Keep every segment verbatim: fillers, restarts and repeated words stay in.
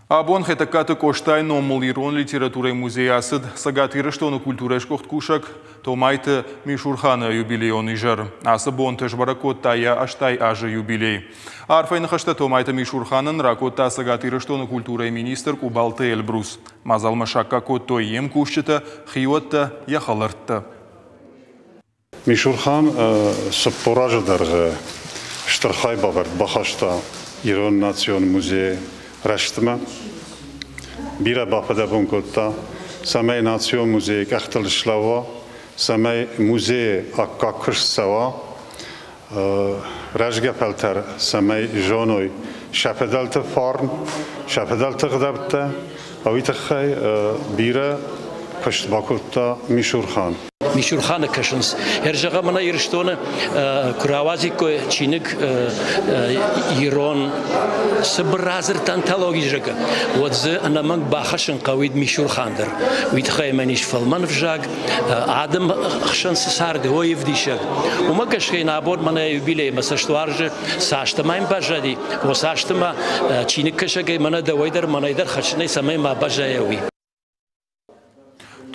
Абон Хетӕгкаты Къостайы номыл ирон литературӕйы музейы ацыд Цӕгат Ирыстоны культурӕйы сгуыхт кусӕг Томайты Мишурханы юбилейон изӕр. Ацы бонты сбӕрӕг кодта йӕ ӕстай азы юбилей. Арфӕйы ныхӕстӕ Томайты Мишурханӕн ракодта Цӕгат Ирыстоны культурӕйы министр Къубалты Эльбрус. Мадзалмӕ саккаг кодтой йе мкусджытӕ, хиуӕттӕ, йӕ хӕлӕрттӕ. Мишурхан цыппор азы дӕргъы стыр хайбавӕрд бахаста Ирон национ музейы рӕзтмӕ. Бирӕ бафыдӕбон кодта, цӕмӕй национ музейы къӕхтыл слӕууа, цӕмӕй музейы аккаг куыст цӕуа, рӕзгӕ фӕлтӕр цӕмӕй зоной сӕ фыдӕлты фарн, сӕ фыдӕлты гъдӕуттӕ, уый тыххӕй бирӕ куыст бакодта Мишурхан. Мишурханы кӕсынц. Ӕрзӕгъӕм, мӕнӕ Ирыстоны куы рауадзиккой чиныг ирон цыбыр радзырдты антологи, зӕгъгӕ, уӕд дзы ӕнӕмӕнг бахӕссын хъӕуид Мишурхан дӕр. Уый тыххӕй мӕн ис фӕлмӕн ӕвзаг, адӕм хсӕн цы царды, уый ӕвдисӕг. Уымӕ гӕсгӕ йын абон мӕнӕ юбилеймӕ цӕстуарзы цастӕ ма йын баззади, о цасты ма чиныгкӕсӕгӕй мӕнӕ дӕуӕй дӕр, мӕнӕй дӕр хӕссынӕй цӕмӕй ма баззайа, уый.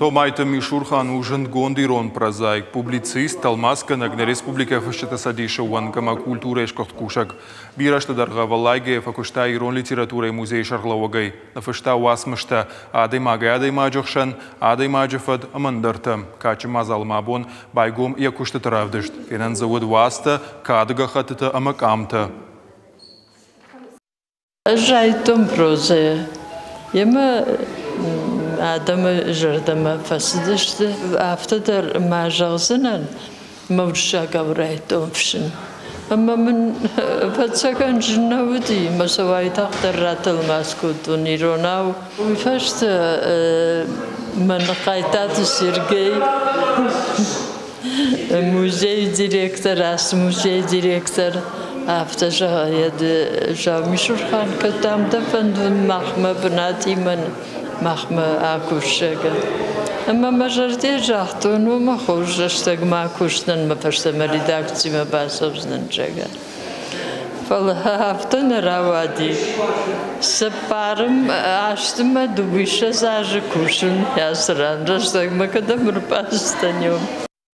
Томайты Мишурхан у зындгонд ирон прозаик, публицист, тӕлмацгӕнӕг, нӕ республикӕйы фысджыты цӕдисы уӕнг ӕмӕ культурӕйы сгуыхт кусӕг. Бирӕ азты дӕргъы ӕвӕллайгӕйӕ фӕкуыста ирон литературӕйы музейы сӕргълӕууӕгӕй. Ныффыста уацмыстӕ адӕймагӕй адӕймаджы хсӕн, адӕймаджы фӕд ӕмӕ ӕндӕртӕ. Кадджын мадзалы ма абон байгом йӕ куыстыты равдыст. Фенӕн дзы уыд уацтӕ, кады гӕххӕттытӕ ӕмӕ къамтӕ. Ӕз райдыдтон прозӕйӕ. Йемӕ адӕмы зӕрдӕмӕ фӕцыдысты. Афтӕ дӕр ма зӕгъдзынӕн, мӕ уырыссагау райдыдтон фыссын. Ӕмӕ мын ӕвӕццӕгӕн зын нӕ уыди, мӕ сӕ уайтагъддӕр ратӕлмац кодтон иронау. Уый фӕстӕ мӕн Хъайтаты Сергей, музейы директор, ацы музейы директор, афтӕ зӕгъы, зӕгъ, Мишурхан, кӕд дӕм дӕ фӕнды махмӕ бынатимӕ махмӕ акусӕгӕн. Ӕмӕ мӕ зӕрдӕ загътон, уымӕ хорз рӕстӕгмӕ акусдзынӕн, мӕ фӕстӕмӕ редакцимӕ бацӕудзынӕн, зӕгъгӕ. Фӕлӕ афтӕ нӕ рауади. Цыппарым азты мӕ дыууиссӕдз азы кусын ацы ран рӕстӕгмӕ кӕдӕм ӕрбацыдтӕн.